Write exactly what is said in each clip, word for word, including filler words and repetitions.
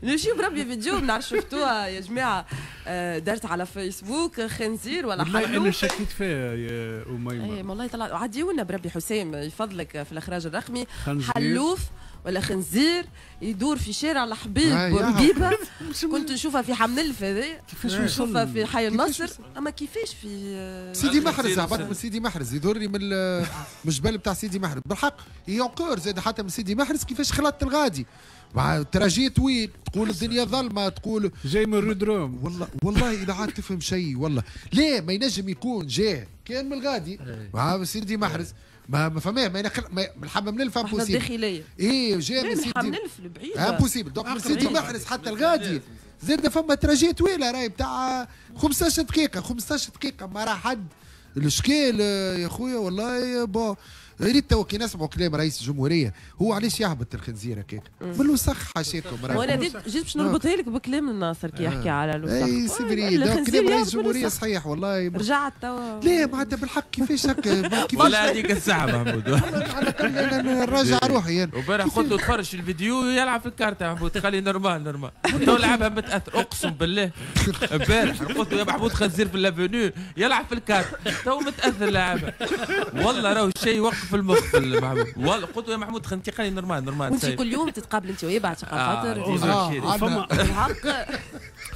نجيب ربي فيديو ما نعرف شفتوها يا جماعة، دارت على فيسبوك خنزير ولا حلوف. انا شكيت فيها يا اميمة. اي والله طلع عديونا بربي حسام يفضلك في الاخراج الرقمي. حلوف ولا خنزير يدور في شارع الحبيب بورقيبة، كنت نشوفها في حملف هذا، كيفاش نشوفها في حي النصر، اما كيفاش في سيدي محرز؟ هبط من سيدي محرز يدورني من الجبل بتاع سيدي محرز بالحق encore زاد حتى من سيدي محرز كيفاش خلطت الغادي مع trajet طويل، تقول الدنيا ظلمه، تقول جاي من رودروم. والله والله اذا عاد تفهم شيء والله ليه ما ينجم يكون جاه كان من الغادي مع سيدي محرز ما ما فماه ما ينخل ما الحمام الألف impossible الداخلية. ايه جاي من سيدي الحمام الألف البعيد impossible. donc من سيدي محرز حتى الغادي زاد فما trajet طويلة راهي بتاع خمسطاش دقيقة، خمسطاش دقيقة ما راه حد الاشكال يا خويا والله. bon ريت تو كي نسمعوا كلام رئيس الجمهورية هو علاش يهبط الخنزير هكاك من الوسخ حاشاكم. وانا جيت باش نربطها لك بكلام الناصر كي يحكي على الوسخ. اي c'est vrai كلام رئيس الجمهورية صحيح والله. رجعت توا ليه معناتها بالحق كيفاش هكا كيفاش ولا هذيك الساعة محمود على الاقل نراجع روحي يعني. وبارح قلت له تفرج في الفيديو يلعب في الكارتة محمود خلي normal normal تو لعبها متاثر اقسم بالله. امبارح قلت له يا محمود خنزير في l'avenue يلعب في الكارتة تو متاثر لعبها والله راهو الشيء وقف في المخ محمود والله. قلت له يا محمود خنتي خلي normal normal. وانت كل يوم تتقابل انت وياه بعد خاطر آه فما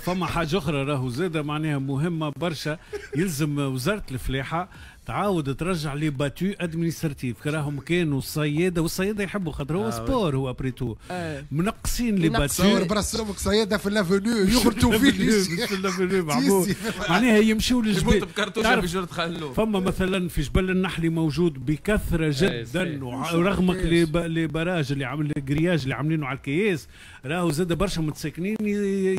فما حاجة اخرى راهو زاده معناها مهمة برشا، يلزم وزارة الفلاحة تعاود ترجع les battues administratives. راهم كانوا الصياده والصياده يحبوا خاطر هو آه sport هو après tout آه. منقصين les battues. تصور براسهم صياده في l'avenue يغلطوا فيه في l'avenue معناها يمشيوا للجبال فما مثلا في جبل النحلي موجود بكثرة جدا، ورغم les barrages اللي عامل ال grillage اللي عاملينه على الكياس راهو زاد برشا متساكنين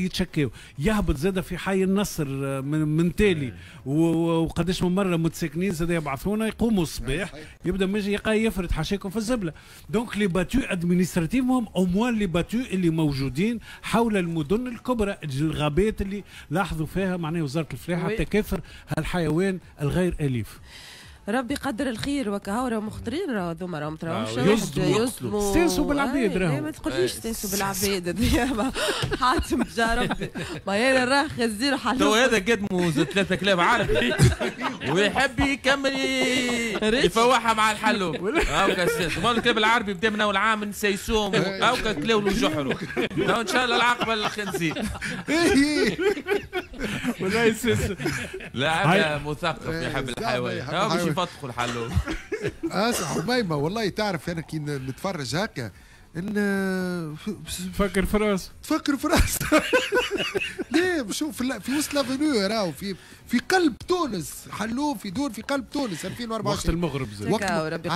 يتشكاو. يهبط زاد في حي النصر من, من تالي وقداش من مرة متساكنين زاد يبعثونا يقوموا الصباح يبدا ماجي يلقى يفرد حاشاكم في الزبله. donc les battues administratives هم au moins les battues اللي موجودين حول المدن الكبرى الغابات اللي لاحظوا فيها معناها وزارة الفلاحة تكاثر هالحيوان الغير اليف. ربي يقدر الخير وكهو راهو مخطرين راهو هذوما راهم تراهمش يصدموا استانسوا بالعباد راهو. ما تقوليش استانسوا بالعباد حاتم جا ربي ما هي راه خنزير حلو. تو هذا قدموا ثلاثة كلاب عربي ويحب يكمل يفوحها مع الحلوب. هاكا السيد ما الكلاب العربي بدا من اول عام نسيسوهم هاكا كلاو له جحرو. ان شاء الله العاقبة للخنزير. والله يسيس لا مثقف يحب الحيوان باش يفتقوا الحلوب. اسمع أميمة والله تعرف انا كي نتفرج هكا ان تفكر في راس تفكر في راس ليه شوف في وسط l'avenue راهو في في قلب تونس حلوف يدور في قلب تونس ألفين وأربعة وعشرين وقت المغرب زاد. وقت